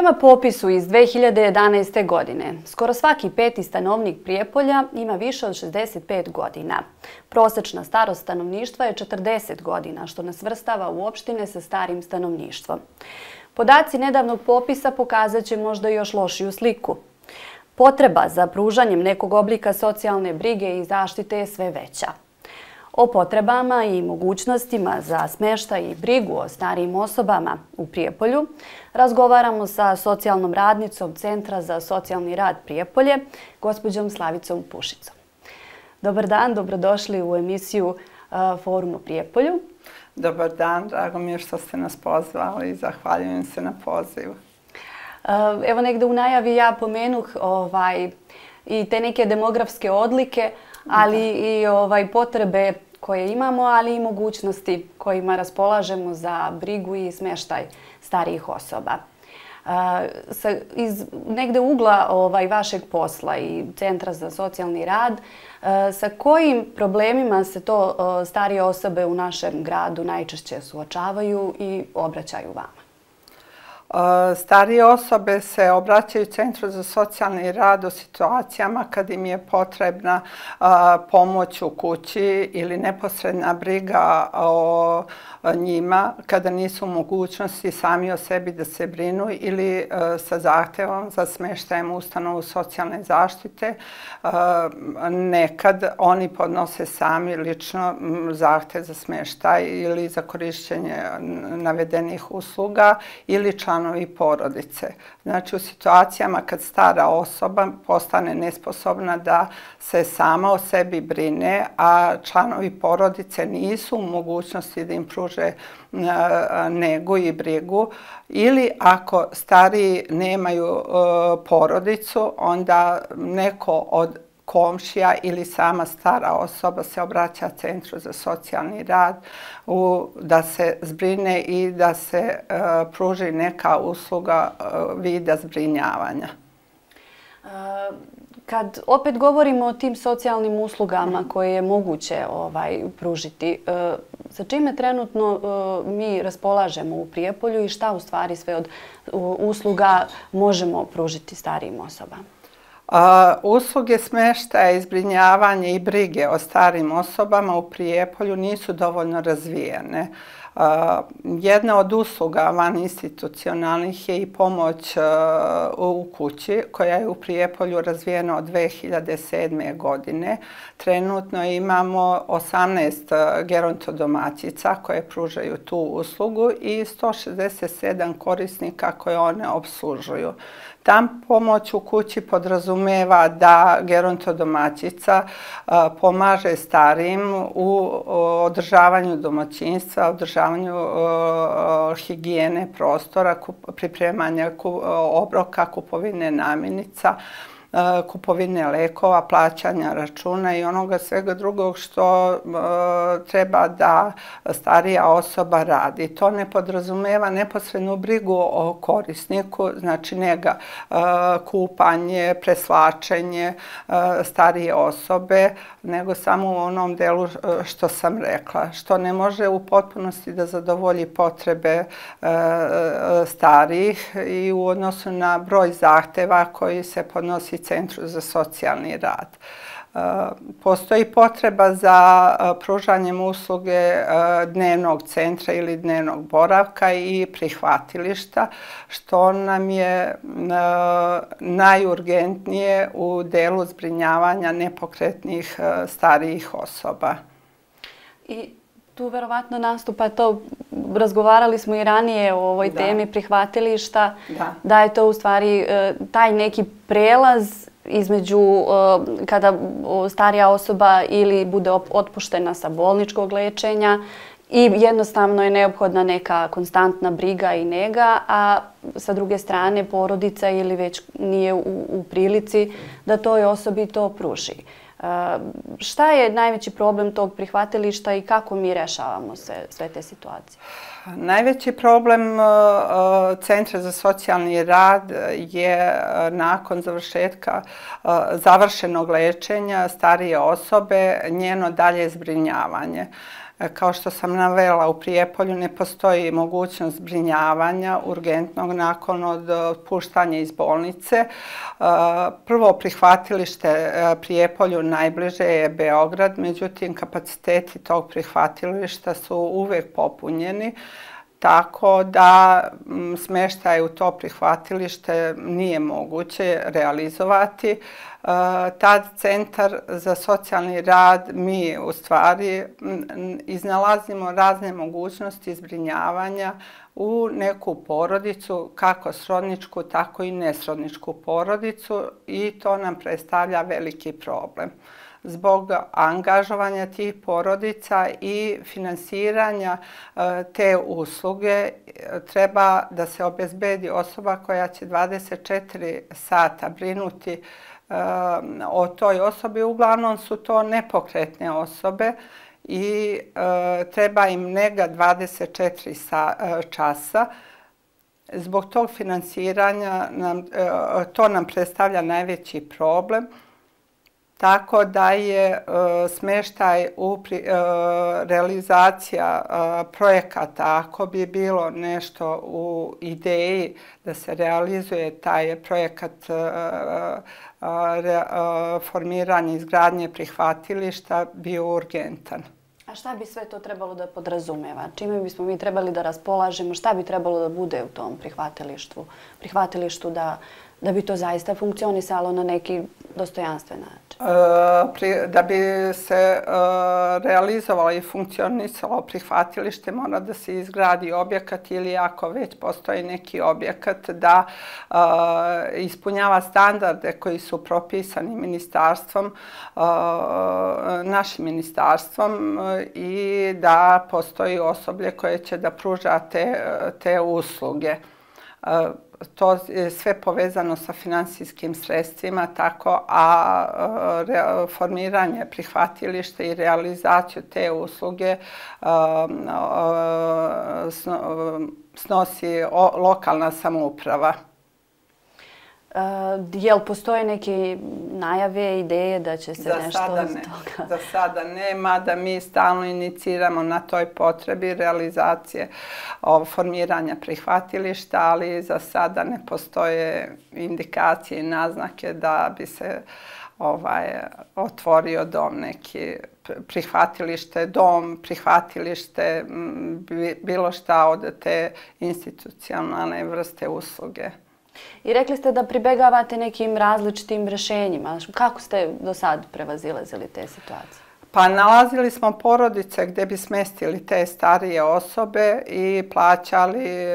Prema popisu iz 2011. godine, skoro svaki peti stanovnik Prijepolja ima više od 65 godina. Prosečna starost stanovništva je 40 godina, što nas svrstava u opštine sa starim stanovništvom. Podaci nedavnog popisa pokazat će možda još lošiju sliku. Potreba za pružanjem nekog oblika socijalne brige i zaštite je sve veća. O potrebama i mogućnostima za smještaj i brigu o starijim osobama u Prijepolju razgovaramo sa socijalnom radnicom Centra za socijalni rad Prijepolje, gospođom Slavicom Pušicom. Dobar dan, dobrodošli u emisiju Forum o Prijepolju. Dobar dan, drago mi je što ste nas pozvali i zahvaljujem se na pozivu. Evo negde u najavi ja pomenuh i te neke demografske odlike, ali i potrebe koje imamo, ali i mogućnosti kojima raspolažemo za brigu i smještaj starijih osoba. Iz negde ugla vašeg posla i Centra za socijalni rad, sa kojim problemima se to starije osobe u našem gradu najčešće suočavaju i obraćaju vama? Starije osobe se obraćaju Centru za socijalni rad u situacijama kad im je potrebna pomoć u kući ili neposredna briga o njima, kada nisu u mogućnosti sami o sebi da se brinu ili sa zahtevom za smještajem u ustanovu socijalne zaštite. Nekad oni podnose sami lično zahtev za smještaj ili za korišćenje navedenih usluga ili članovi porodice. Znači, u situacijama kad stara osoba postane nesposobna da se sama o sebi brine, a članovi porodice nisu u mogućnosti da im pruže negu i brigu, ili ako stariji nemaju porodicu, onda neko od komšija ili sama stara osoba se obraća Centru za socijalni rad da se zbrine i da se pruži neka usluga vida zbrinjavanja. Kad opet govorimo o tim socijalnim uslugama koje je moguće pružiti, sa čime trenutno mi raspolažemo u Prijepolju i šta u stvari sve od usluga možemo pružiti starijim osobama? Usluge smještaja i zbrinjavanja i brige o starim osobama u Prijepolju nisu dovoljno razvijene. Jedna od usluga vaninstitucionalnih je i pomoć u kući, koja je u Prijepolju razvijena od 2007. godine. Trenutno imamo 18 gerontodomaćica koje pružaju tu uslugu i 167 korisnika koje one obslužuju. Ta pomoć u kući podrazumeva da gerontodomaćica pomaže starijim u održavanju domaćinstva, održavanju higijene prostora, pripremanja obroka, kupovine namirnica, kupovine lekova, plaćanja računa i onoga svega drugog što treba da starija osoba radi. To ne podrazumeva neposrednu brigu o korisniku, znači njega kupanje, preslačenje starije osobe, nego samo u onom delu što sam rekla, što ne može u potpunosti da zadovolji potrebe starijih i u odnosu na broj zahteva koji se podnosi Centru za socijalni rad. Postoji potreba za pružanjem usluge dnevnog centra ili dnevnog boravka i prihvatilišta, što nam je najurgentnije u delu zbrinjavanja nepokretnih starijih osoba. I tu verovatno nastupa to, razgovarali smo i ranije o ovoj temi prihvatilišta, da je to u stvari taj neki prelaz između kada starija osoba ili bude otpuštena sa bolničkog lečenja i jednostavno je neophodna neka konstantna briga i nega, a sa druge strane porodica ili već nije u prilici da toj osobi to pruži. Šta je najveći problem tog prihvatilišta i kako mi rešavamo sve te situacije? Najveći problem Centra za socijalni rad je nakon završenog lečenja starije osobe njeno dalje zbrinjavanje. Kao što sam navela, u Prijepolju ne postoji mogućnost zbrinjavanja urgentnog nakon otpuštanja iz bolnice. Prvo prihvatilište Prijepolju najbliže je Beograd, međutim kapaciteti tog prihvatilišta su uvijek popunjeni, tako da smještaj u to prihvatilište nije moguće realizovati. Tad Centar za socijalni rad, mi u stvari iznalazimo razne mogućnosti zbrinjavanja u neku porodicu, kako srodničku, tako i nesrodničku porodicu, i to nam predstavlja veliki problem. Zbog angažovanja tih porodica i finansiranja te usluge treba da se obezbedi osoba koja će 24 sata brinuti o toj osobi. Uglavnom su to nepokretne osobe i treba im nega 24 časa. Zbog tog finansiranja to nam predstavlja najveći problem. Tako da je smještaj realizacija projekata, ako bi bilo nešto u ideji da se realizuje taj projekat formiranja i izgradnje prihvatilišta, bio urgentan. A šta bi sve to trebalo da podrazumeva? Čime bismo mi trebali da raspolažemo? Šta bi trebalo da bude u tom prihvatilištu da bi to zaista funkcionisalo na neki dostojanstven način? Da bi se realizovalo i funkcionisalo prihvatilište, mora da se izgradi objekat, ili ako već postoji neki objekat, da ispunjava standarde koji su propisani ministarstvom, našim ministarstvom, i da postoji osoblje koje će da pruža te usluge. To je sve povezano sa finansijskim sredstvima, a formiranje prihvatilišta i realizaciju te usluge snosi lokalna samouprava. Jel postoje neke najave, ideje da će se nešto od toga? Za sada nema, da mi stalno iniciramo na toj potrebi realizacije formiranja prihvatilišta, ali za sada ne postoje indikacije i naznake da bi se otvorio dom neki, prihvatilište, bilo šta od te institucionalne vrste usluge. I rekli ste da pribegavate nekim različitim rješenjima. Kako ste do sad prevazilazili te situacije? Pa nalazili smo porodice gdje bi smjestili te starije osobe i plaćali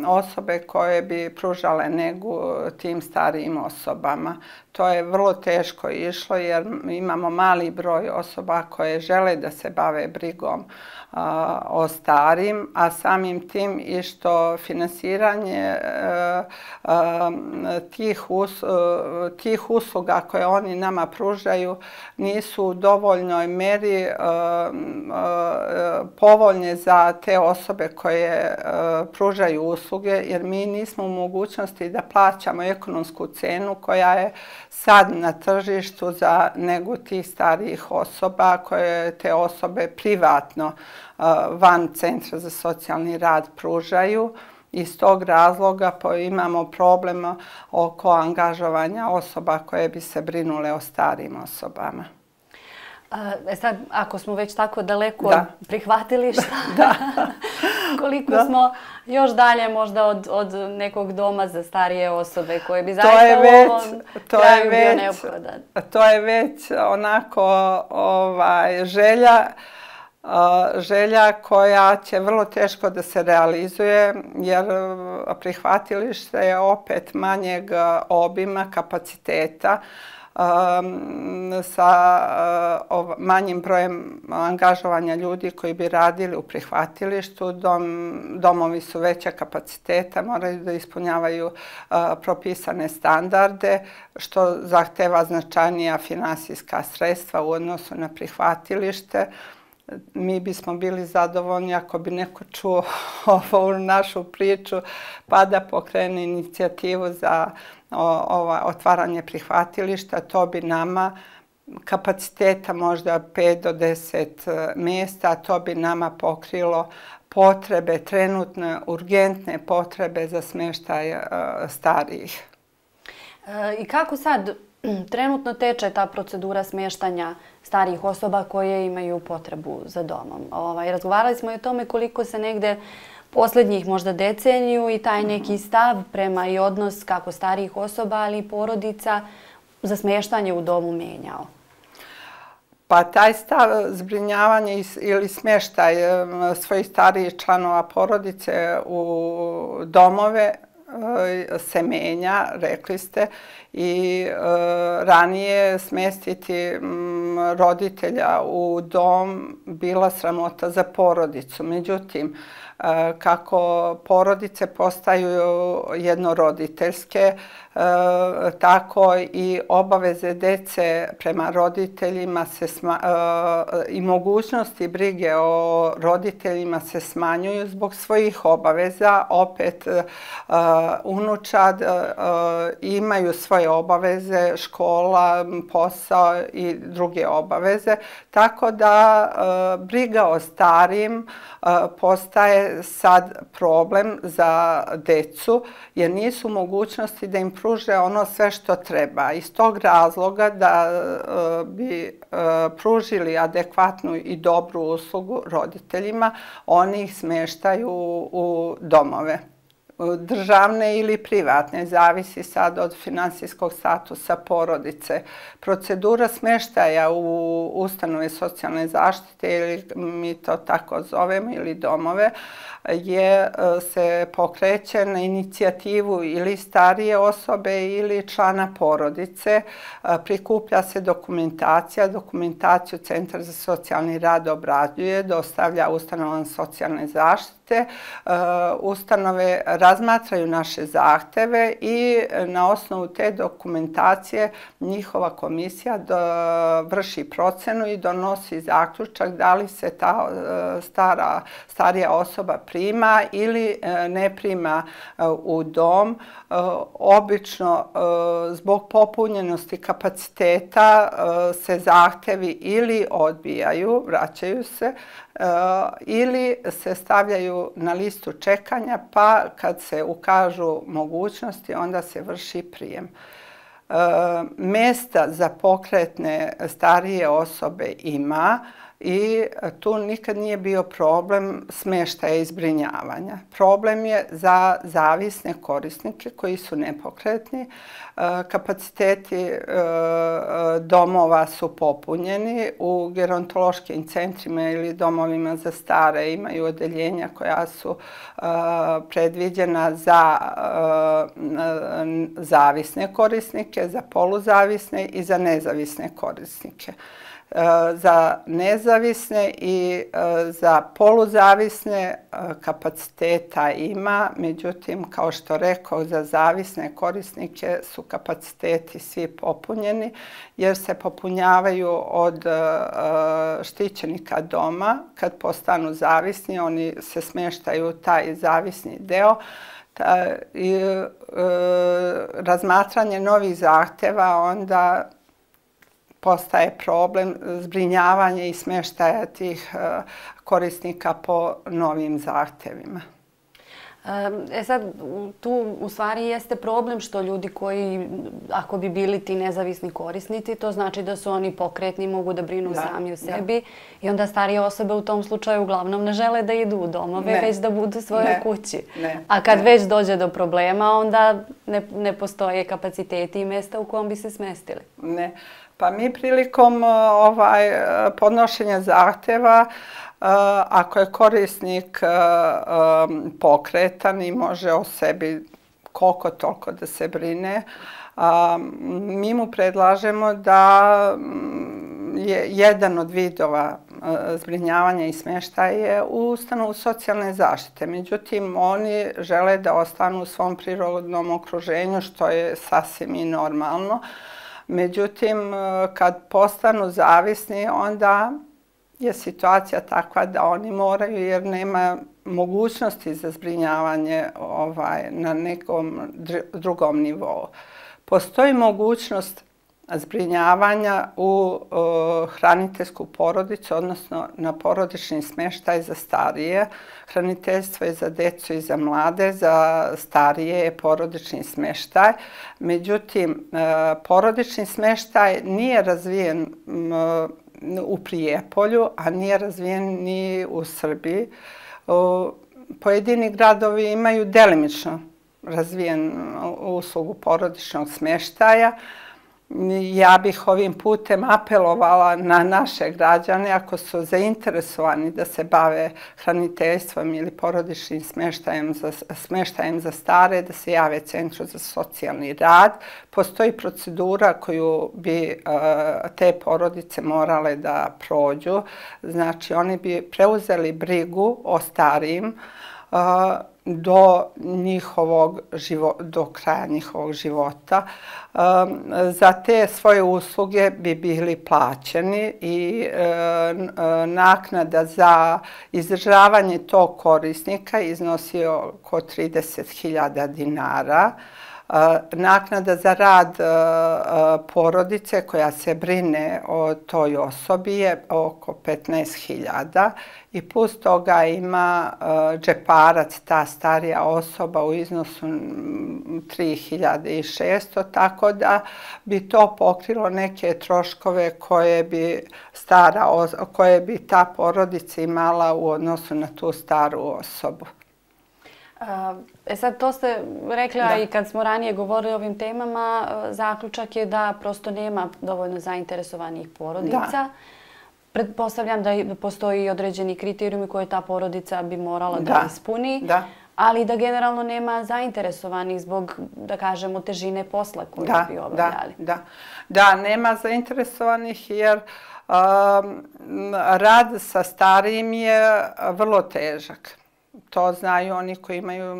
osobe koje bi pružale negu tim starijim osobama. To je vrlo teško išlo jer imamo mali broj osoba koje žele da se bave brigom o starijim, a samim tim i što finansiranje tih usluga koje oni nama pružaju nisu u dovoljnoj meri povoljne za te osobe koje pružaju usluge, jer mi nismo u mogućnosti da plaćamo ekonomsku cenu koja je sad na tržištu za negu tih starijih osoba, koje te osobe privatno van Centra za socijalni rad pružaju. Iz tog razloga imamo problem oko angažovanja osoba koje bi se brinule o starijim osobama. Sad, ako smo već tako daleko od prihvatilišta, koliko smo još dalje možda od nekog doma za starije osobe koje bi zaista u ovom kraju bio neophodan? To je već onako želja koja će vrlo teško da se realizuje, jer prihvatilište je opet manjeg obima, kapaciteta, sa manjim brojem angažovanja ljudi koji bi radili u prihvatilištu. Domovi su veća kapaciteta, moraju da ispunjavaju propisane standarde, što zahteva značajnija finansijska sredstva u odnosu na prihvatilište. Mi bismo bili zadovoljni ako bi neko čuo ovu našu priču pa da pokrene inicijativu za otvaranje prihvatilišta. To bi nama kapaciteta možda 5 do 10 mjesta. To bi nama pokrilo potrebe, trenutne, urgentne potrebe za smještaj starijih. I kako sad trenutno teče ta procedura smještanja starijih osoba koje imaju potrebu za domom? Razgovarali smo i o tome koliko se negde posljednjih možda deceniju i taj neki stav prema i odnos kako starijih osoba, ali i porodica za smještanje u domu menjao. Pa taj stav zbrinjavanja ili smještaj svojih starijih članova porodice u domove se menja, rekli ste, i ranije smjestiti roditelja u dom bila sramota za porodicu. Međutim, kako porodice postaju jednoroditeljske, tako i obaveze dece prema roditeljima i mogućnosti brige o roditeljima se smanjuju zbog svojih obaveza. Opet unučad imaju svoje obaveze, škola, posao i druge obaveze. Tako da briga o starijim postaje sad problem za decu jer nisu mogućnosti da im pruže ono sve što treba. Iz tog razloga da bi pružili adekvatnu i dobru uslugu roditeljima, oni ih smještaju u domove. Državne ili privatne, zavisi sad od finansijskog statusa porodice. Procedura smještaja u ustanove socijalne zaštite, ili mi to tako zovemo, ili domove, se pokreće na inicijativu ili starije osobe ili člana porodice. Prikuplja se dokumentacija, dokumentaciju Centar za socijalni rad obrađuje, dostavlja ustanovama socijalne zaštite. Ustanove razmatraju naše zahteve i na osnovu te dokumentacije njihova komisija vrši procenu i donosi zaključak da li se ta starija osoba prima ili ne prima u dom. Obično zbog popunjenosti kapaciteta se zahtevi ili odbijaju, vraćaju se, ili se stavljaju na listu čekanja, pa kad se ukažu mogućnosti, onda se vrši prijem. Mjesta za pokretne starije osobe ima i tu nikad nije bio problem smještaja i zbrinjavanja. Problem je za zavisne korisnike koji su nepokretni. Kapaciteti domova su popunjeni. U gerontološkim centrima ili domovima za stare imaju odeljenja koja su predviđena za zavisne korisnike, za poluzavisne i za nezavisne korisnike. Za nezavisne i za poluzavisne kapaciteta ima, međutim, kao što rekao, za zavisne korisnike su kapaciteti svi popunjeni jer se popunjavaju od štićenika doma. Kad postanu zavisni, oni se smještaju u taj zavisni deo. I razmatranje novih zahtjeva onda postaje problem zbrinjavanja i smještaja tih korisnika po novim zahtjevima. Sad, tu u stvari jeste problem što ljudi koji, ako bi bili ti nezavisni korisnici, to znači da su oni pokretni, mogu da brinu sami o sebi i onda starije osobe u tom slučaju uglavnom ne žele da idu u domove, već da budu u svojoj kući. A kad već dođe do problema, onda ne postoje kapaciteti i mjesta u kom bi se smestili. Ne. Pa mi prilikom podnošenja zahtjeva, ako je korisnik pokretan i može o sebi koliko toliko da se brine, mi mu predlažemo da je jedan od vidova zbrinjavanja i smještaja je u ustanovu socijalne zaštite. Međutim, oni žele da ostanu u svom prirodnom okruženju, što je sasvim i normalno. Međutim, kad postanu zavisni, onda je situacija takva da oni moraju, jer nema mogućnosti za zbrinjavanje na nekom drugom nivou. Postoji mogućnost zbrinjavanja u hraniteljsku porodicu, odnosno na porodični smještaj za starije. Hraniteljstvo je za djecu i za mlade, za starije je porodični smještaj. Međutim, porodični smještaj nije razvijen u Prijepolju, a nije razvijen ni u Srbiji. Pojedini gradovi imaju delimično razvijen uslugu porodičnog smještaja. Ja bih ovim putem apelovala na naše građane, ako su zainteresovani da se bave hraniteljstvom ili porodičnim smještajem za stare, da se jave Centru za socijalni rad. Postoji procedura koju bi te porodice morale da prođu. Znači, oni bi preuzeli brigu o starijim do kraja njihovog života. Za te svoje usluge bi bili plaćeni i naknada za izdržavanje tog korisnika iznosi oko 30.000 dinara. Naknada za rad porodice koja se brine o toj osobi je oko 15.000 i plus toga ima džeparac, ta starija osoba, u iznosu 3.600, tako da bi to pokrilo neke troškove koje bi ta porodica imala u odnosu na tu staru osobu. Sad to ste rekla i kad smo ranije govorili o ovim temama, zaključak je da prosto nema dovoljno zainteresovanih porodica. Pretpostavljam da postoji određeni kriterijumi koje ta porodica bi morala da ispuni, ali da generalno nema zainteresovanih zbog, da kažemo, težine posla koju bi obavljali. Da, nema zainteresovanih jer rad sa starijim je vrlo težak. To znaju oni koji imaju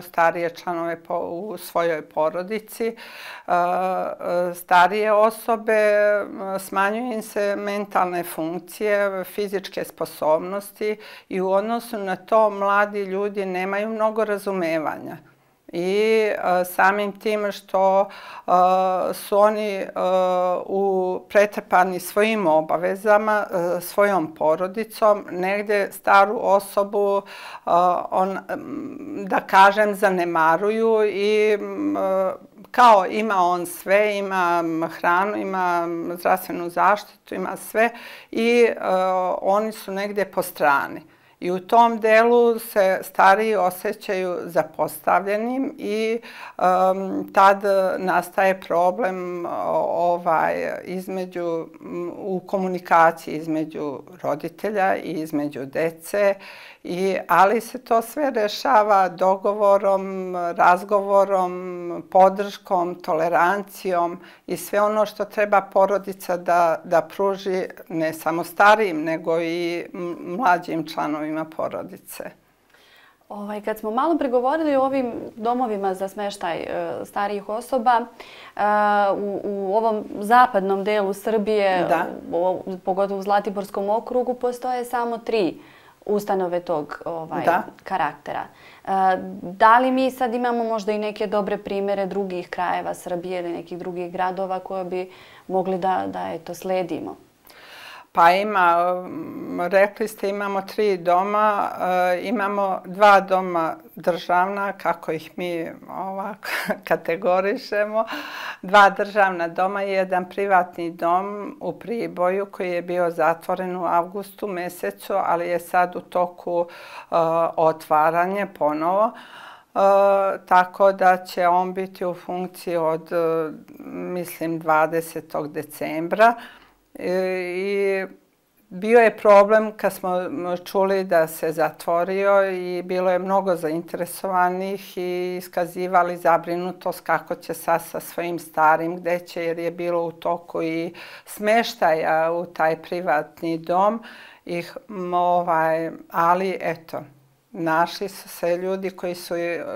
starije članove u svojoj porodici. Starije osobe, smanjuju im se mentalne funkcije, fizičke sposobnosti i u odnosu na to mladi ljudi nemaju mnogo razumevanja. I samim tim što su oni pretrpani svojim obavezama, svojom porodicom, negdje staru osobu, da kažem, zanemaruju i kao ima on sve, ima hranu, ima zdravstvenu zaštitu, ima sve i oni su negdje po strani. I u tom delu se stariji osjećaju zapostavljenim i tad nastaje problem u komunikaciji između roditelja i između dece, ali se to sve rešava dogovorom, razgovorom, podrškom, tolerancijom i sve ono što treba porodica da pruži ne samo starijim, nego i mlađim članovima porodice. Kad smo malo pregovorili o ovim domovima za smještaj starijih osoba, u ovom zapadnom delu Srbije, pogotovo u Zlatiborskom okrugu, postoje samo 3 ustanove tog karaktera. Da li mi sad imamo možda i neke dobre primjere drugih krajeva Srbije ili nekih drugih gradova koje bi mogli da sledimo? Pa ima, rekli ste, imamo 3 doma, imamo 2 doma državna, kako ih mi ovako kategorišemo, 2 državna doma i 1 privatni dom u Priboju koji je bio zatvoren u avgustu mesecu, ali je sad u toku otvaranje ponovo. Tako da će on biti u funkciji od, mislim, 20. decembra. I bio je problem kad smo čuli da se zatvorio i bilo je mnogo zainteresovanih i iskazivali zabrinutost kako će sad sa svojim starim, gde će, jer je bilo u toku i smeštaja u taj privatni dom. Ali eto, našli su se ljudi koji su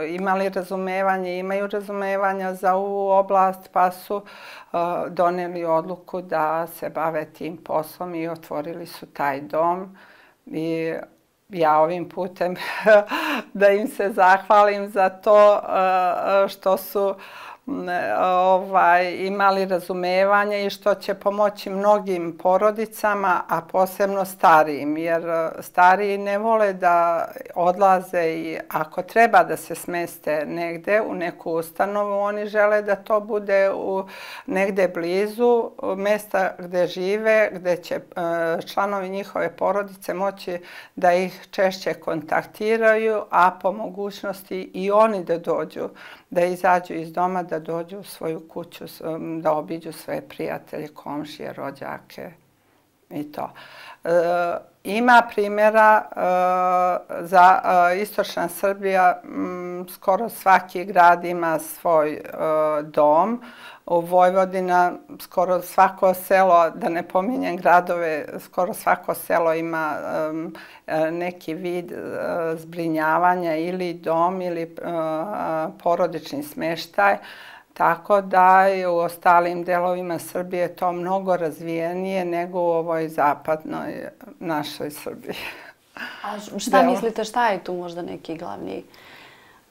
imali razumevanje, imaju razumevanja za ovu oblast, pa su doneli odluku da se bave tim poslom i otvorili su taj dom. I ja ovim putem da im se zahvalim za to što su imali razumevanje i što će pomoći mnogim porodicama, a posebno starijim, jer stariji ne vole da odlaze i ako treba da se smeste negde u neku ustanovu, oni žele da to bude negde blizu mesta gde žive, gde će članovi njihove porodice moći da ih češće kontaktiraju, a po mogućnosti i oni da dođu, da izađu iz doma, da dođu u svoju kuću, da obiđu svoje prijatelje, komšije, rođake i to. Ima primjera za istočna Srbija, skoro svaki grad ima svoj dom. U Vojvodina skoro svako selo, da ne pominjem gradove, skoro svako selo ima neki vid zbrinjavanja ili dom ili porodični smještaj. Tako da je u ostalim delovima Srbije to mnogo razvijenije nego u ovoj zapadnoj našoj Srbiji. A šta mislite, šta je tu možda neki glavni?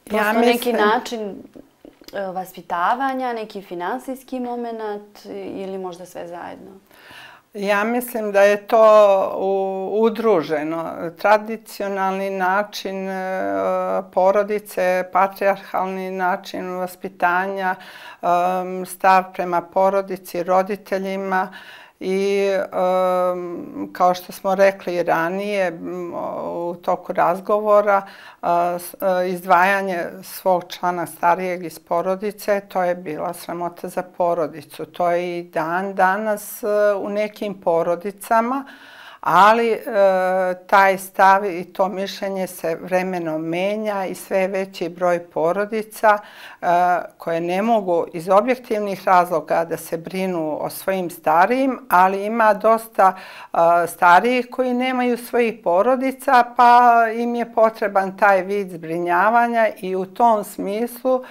Prosto neki način vaspitavanja, neki finansijski moment ili možda sve zajedno? Ja mislim da je to udruženo. Tradicionalni način porodice, patrijarhalni način vaspitanja, stav prema porodici, roditeljima i kao što smo rekli ranije u toku razgovora, izdvajanje svog člana starijeg iz porodice, to je bila sramota za porodicu. To je i dan danas u nekim porodicama, ali taj stav i to mišljenje se vremenom menja i sve je veći broj porodica koje ne mogu iz objektivnih razloga da se brinu o svojim starijim, ali ima dosta starijih koji nemaju svojih porodica, pa im je potreban taj vid zbrinjavanja i u tom smislu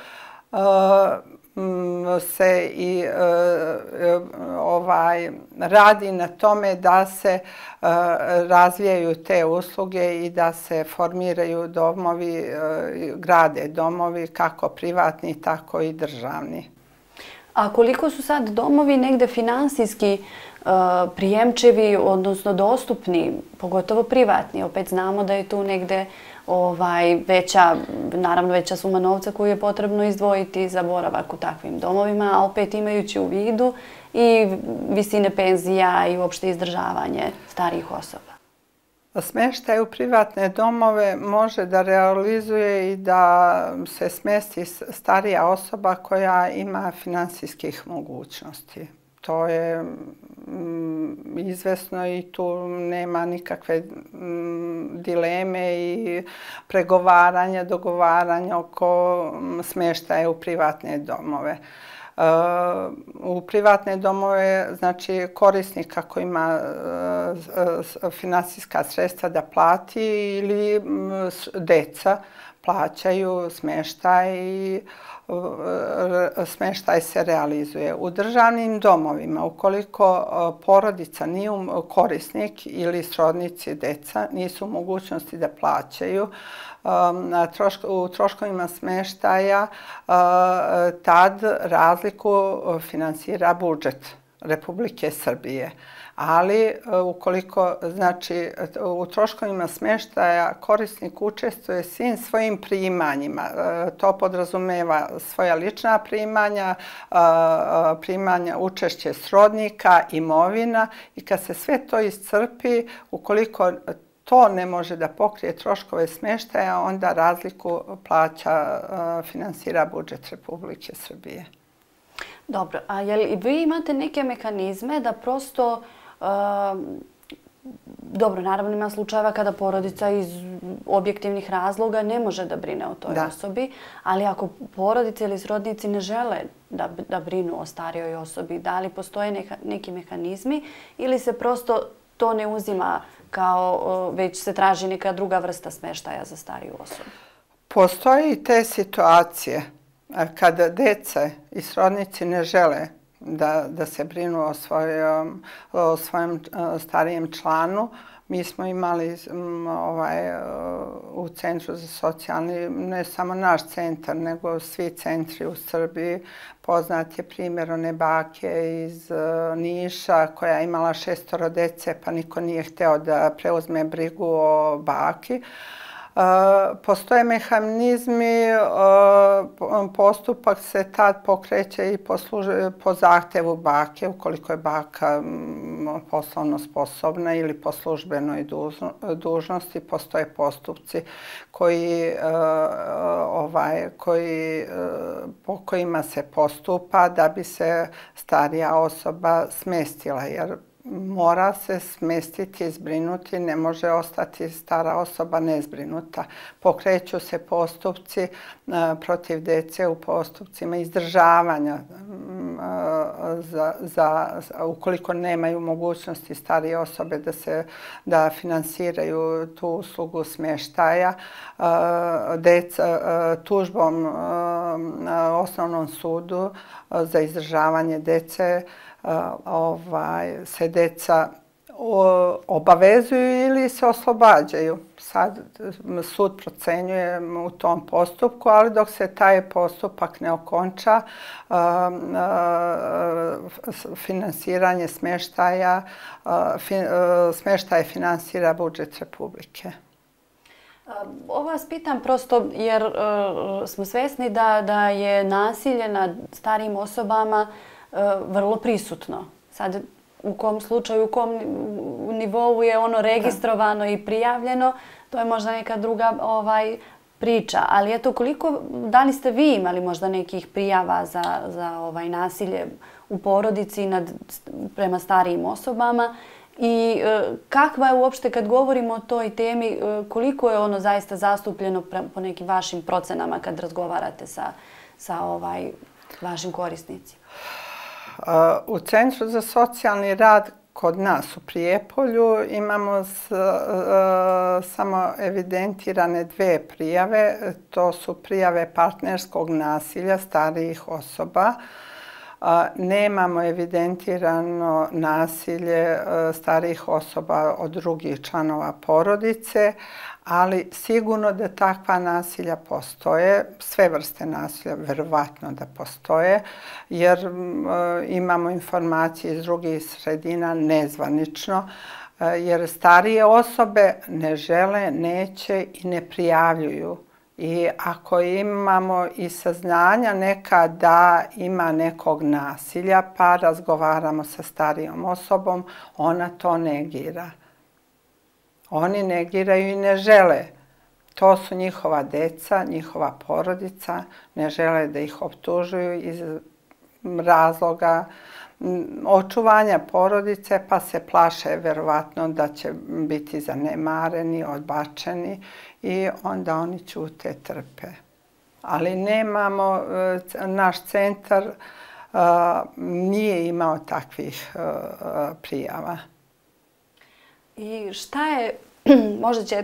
se i radi na tome da se razvijaju te usluge i da se formiraju domovi, grade domovi kako privatni, tako i državni. A koliko su sad domovi negde finansijski prijemčivi, odnosno dostupni, pogotovo privatni? Opet znamo da je tu negde veća suma novca koju je potrebno izdvojiti za boravak u takvim domovima, a opet imajući u vidu i visine penzija i uopšte izdržavanje starijih osoba. Smještaj u privatne domove može da realizuje i da se smjesti starija osoba koja ima finansijskih mogućnosti. To je izvesno i tu nema nikakve dileme i pregovaranja, dogovaranja oko smještaja u privatne domove. U privatne domove, znači korisnik ako ima finansijska sredstva da plati ili deca plaćaju smještaj i smještaj se realizuje. U državnim domovima, ukoliko porodica nije korisnik ili srodnici deca nisu u mogućnosti da plaćaju, u troškovima smještaja tad razliku finansira budžet Republike Srbije. Ali ukoliko, znači, u troškovima smještaja korisnik učestvuje svim svojim primanjima. To podrazumeva svoja lična primanja, učešće srodnika, imovina i kad se sve to iscrpi, ukoliko to ne može da pokrije troškove smještaja, onda razliku finansira budžet Republike Srbije. Dobro, a jel vi imate neke mehanizme da prosto, dobro, naravno ima slučajeva kada porodica iz objektivnih razloga ne može da brine o toj osobi, ali ako porodice ili srodnici ne žele da brinu o starijoj osobi, da li postoje neki mehanizmi ili se prosto to ne uzima kao već se traži neka druga vrsta smještaja za stariju osobu? Postoje i te situacije kada dece i srodnici ne žele da se brinu o svojem starijem članu. Mi smo imali u Centru za socijalni, ne samo naš centar, nego svi centri u Srbiji. Poznat je primjer one bake iz Niša koja je imala 6 dece pa niko nije hteo da preuzme brigu o baki. Postoje mehanizmi, postupak se tad pokreće i po zahtevu bake, ukoliko je baka poslovno sposobna ili po službenoj dužnosti. Postoje postupci po kojima se postupa da bi se starija osoba smestila, jer mora se smestiti i zbrinuti, ne može ostati stara osoba nezbrinuta. Pokreću se postupci protiv dece u postupcima izdržavanja ukoliko nemaju mogućnosti starije osobe da finansiraju tu uslugu smještaja. Tužbom Osnovnom sudu za izdržavanje dece se deca obavezuju ili se oslobađaju. Sad sud procenjuje u tom postupku, ali dok se taj postupak ne okonča, finansiranje smještaja finansira budžet Republike. Ovo vas pitam prosto jer smo svjesni da je nasilje nad starijim osobama vrlo prisutno. Sad, u kom slučaju, u kom nivou je ono registrovano i prijavljeno, to je možda neka druga priča. Ali eto, da li ste vi imali možda nekih prijava za nasilje u porodici prema starijim osobama i kakva je uopšte, kad govorimo o toj temi, koliko je ono zaista zastupljeno po nekim vašim procenama kad razgovarate sa vašim korisnicima? U Centru za socijalni rad kod nas u Prijepolju imamo samo evidentirane 2 prijave. To su prijave partnerskog nasilja starijih osoba. Nemamo evidentirano nasilje starijih osoba od drugih članova porodice, ali sigurno da takva nasilja postoje, sve vrste nasilja verovatno da postoje, jer imamo informacije iz drugih sredina nezvanično, jer starije osobe ne žele, neće i ne prijavljuju. I ako imamo i saznanja neka da ima nekog nasilja, pa razgovaramo sa starijom osobom, ona to negira. Oni negiraju i ne žele. To su njihova deca, njihova porodica, ne žele da ih optužuju iz razloga očuvanja porodice, pa se plaše verovatno da će biti zanemareni, odbačeni i onda oni ćute, trpe. Ali nemamo, naš centar nije imao takvih prijava. I šta je, možda će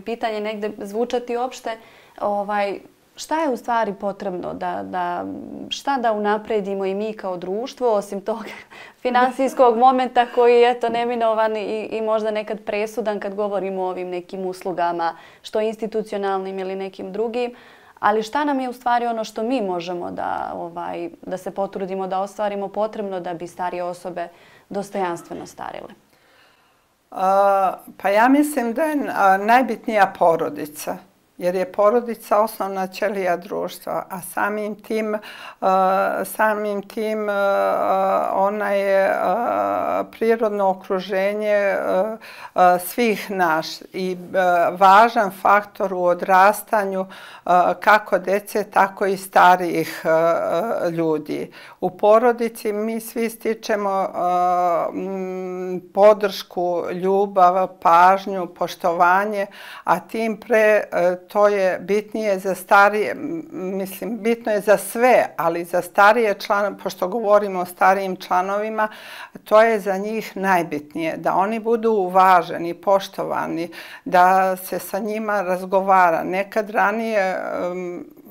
pitanje negde zvučati opšte, šta je u stvari potrebno, šta da unapredimo i mi kao društvo, osim tog finansijskog momenta koji je neminovan i možda nekad presudan kad govorimo o ovim nekim uslugama, što institucionalnim ili nekim drugim, ali šta nam je u stvari ono što mi možemo da se potrudimo, da ostvarimo potrebno da bi starije osobe dostojanstveno starile? Pa ja mislim da je najbitnija porodica, jer je porodica osnovna ćelija društva, a samim tim ona je prirodno okruženje svih nas i važan faktor u odrastanju kako dece, tako i starijih ljudi. U porodici mi svi stičemo podršku, ljubav, pažnju, poštovanje, a tim pre to je bitnije za starije, mislim, bitno je za sve, ali za starije članove, pošto govorimo o starijim članovima, to je za njih najbitnije, da oni budu uvaženi, poštovani, da se sa njima razgovara. Nekad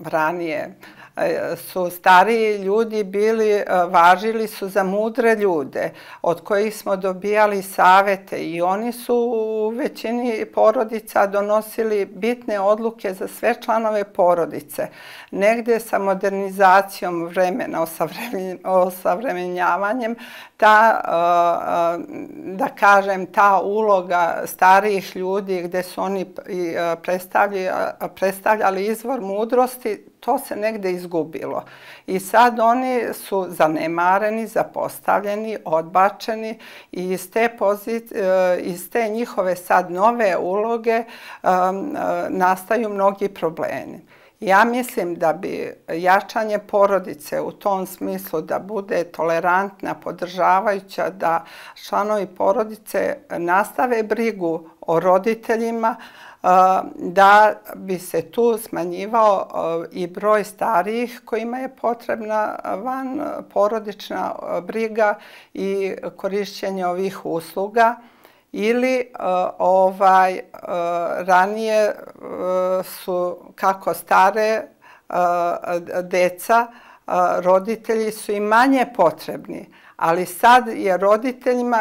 ranije, su stariji ljudi bili, važili su za mudre ljude od kojih smo dobijali savete i oni su u većini porodica donosili bitne odluke za sve članove porodice. Negdje sa modernizacijom vremena, osavremenjavanjem, da kažem, ta uloga starijih ljudi gdje su oni predstavljali izvor mudrosti, to se negdje izgubilo. I sad oni su zanemareni, zapostavljeni, odbačeni i iz te njihove sad nove uloge nastaju mnogi problemi. Ja mislim da bi jačanje porodice u tom smislu da bude tolerantna, podržavajuća, da članovi porodice nastave brigu o roditeljima, da bi se tu smanjivao i broj starijih kojima je potrebna van porodična briga i korišćenje ovih usluga. Ili ranije su kako stare deca, roditelji su i manje potrebni, ali sad je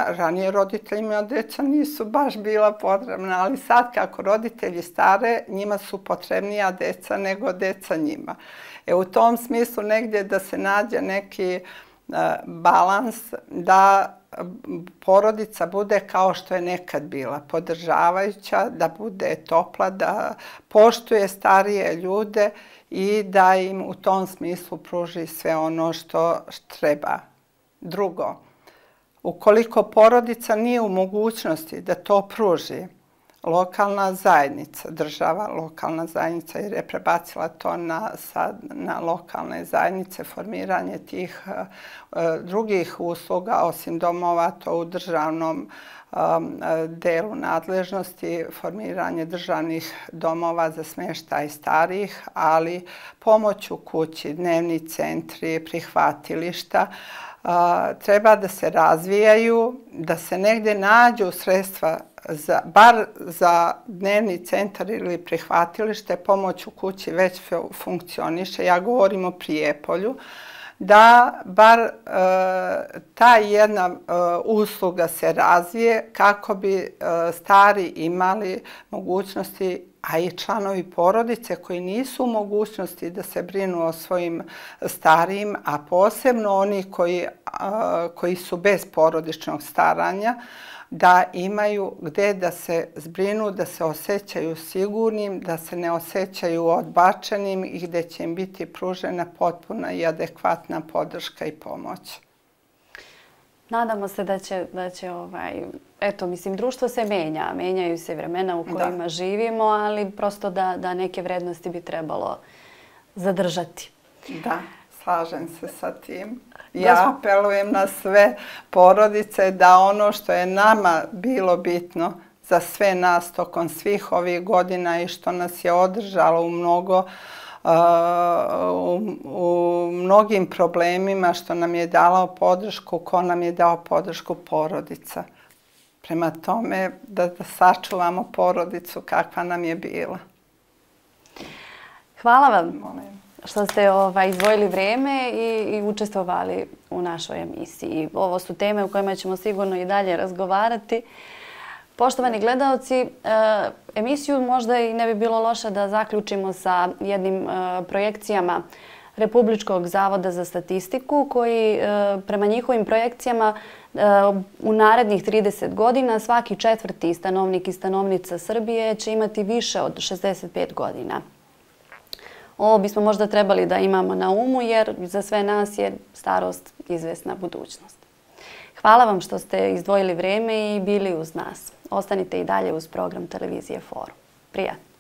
ranije roditeljima deca nisu baš bila potrebna, ali sad kako roditelji stare, njima su potrebnija deca nego deca njima. U tom smislu negdje da se nađe neki balans da porodica bude kao što je nekad bila, podržavajuća, da bude topla, da poštuje starije ljude i da im u tom smislu pruži sve ono što treba. Drugo, ukoliko porodica nije u mogućnosti da to pruži, lokalna zajednica, država, lokalna zajednica, jer je prebacila to na lokalne zajednice, formiranje tih drugih usluga, osim domova, to u državnom delu nadležnosti, formiranje državnih domova za smještaj starijih, ali pomoć u kući, dnevni centri, prihvatilišta, treba da se razvijaju, da se negdje nađu sredstva bar za dnevni centar ili prihvatilište, pomoć u kući već funkcioniše, ja govorim o Prijepolju, da bar ta jedna usluga se razvije kako bi stari imali mogućnosti, a i članovi porodice koji nisu u mogućnosti da se brinu o svojim starijim, a posebno oni koji su bez porodičnog staranja, da imaju gdje da se zbrinu, da se osjećaju sigurnim, da se ne osjećaju odbačenim i gdje će im biti pružena potpuna i adekvatna podrška i pomoć. Nadamo se da će eto, mislim, društvo se menja, menjaju se vremena u kojima živimo, ali prosto da neke vrednosti bi trebalo zadržati. Da, slažem se sa tim. Ja apelujem na sve porodice da ono što je nama bilo bitno za sve nas tokom svih ovih godina i što nas je održalo u mnogim problemima, što nam je dalo podršku, ko nam je dao podršku, porodica. Prema tome da sačuvamo porodicu kakva nam je bila. Hvala vam što ste izdvojili vrijeme i učestvovali u našoj emisiji. Ovo su teme u kojima ćemo sigurno i dalje razgovarati. Poštovani gledalci, emisiju možda i ne bi bilo loše da zaključimo sa jednim projekcijama Republičkog zavoda za statistiku koji prema njihovim projekcijama u narednih 30 godina svaki četvrti stanovnik i stanovnica Srbije će imati više od 65 godina. Ovo bismo možda trebali da imamo na umu jer za sve nas je starost izvesna budućnost. Hvala vam što ste izdvojili vrijeme i bili uz nas. Ostanite i dalje uz program televizije Forum. Prijatno!